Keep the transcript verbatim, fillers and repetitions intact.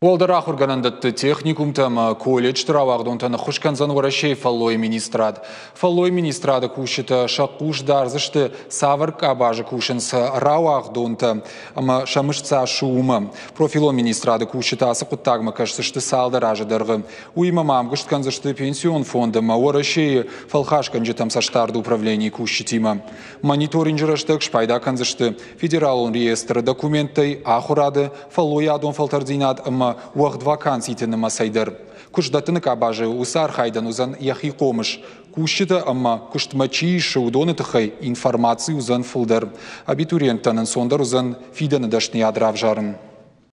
Уӕлдӕр ахуыргӕнӕндӕтты, техникумтӕ ӕмӕ колледжты рауагъдонтӕн ӕххуыс кӕндзӕн Уӕрӕсейы фӕллойы министрад. Фӕллойы министрады кусджытӕ сӕ хъус дардзысты, цавӕр къабазы кусынц рауагъдонтӕ ӕмӕ сӕ мызд цас у, уымӕ. Профилон министрады кусджытӕ ацы хъуыддагмӕ кӕсдзысты цалдӕр азы дӕргъы. Уыимӕ ма ӕмгуыст кӕндзысты пенсион фонд ӕмӕ Уӕрӕсейы фӕлхасгӕнджытӕм цӕстдарды управленийы кусджытимӕ. Мониторинджы рӕстӕг спайда кӕндзысты федералон реестры документтӕй, ахуырады, фӕллойадон фӕлтӕрддзинад ӕмӕ уӕгъд ваканситы нымӕцӕй дӕр. Куыстдӕттыны къабазы уыцы архайдӕн уыдзӕн йӕхи хъомыс. Кусджытӕ ӕмӕ куыстмӕ чи исы, уыдоны тыххӕй информаци уыдзӕн фылдӕр. Абитуриенттӕн ӕнцондӕр уыдзӕн фидӕны дӕсныйад равзарын.